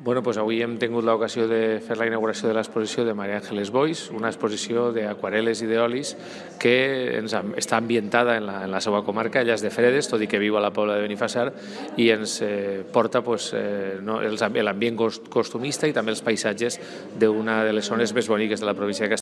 Bueno, doncs avui hem tingut l'ocasió de fer la inauguració de l'exposició de Maria Ángeles Boix, una exposició d'aquarel·les i d'olis que està ambientada en la seva comarca, ella és de Fredes, tot i que viu a la Pobla de Benifassar, i ens porta l'ambient costumista i també els paisatges d'una de les zones més boniques de la província de Castelló.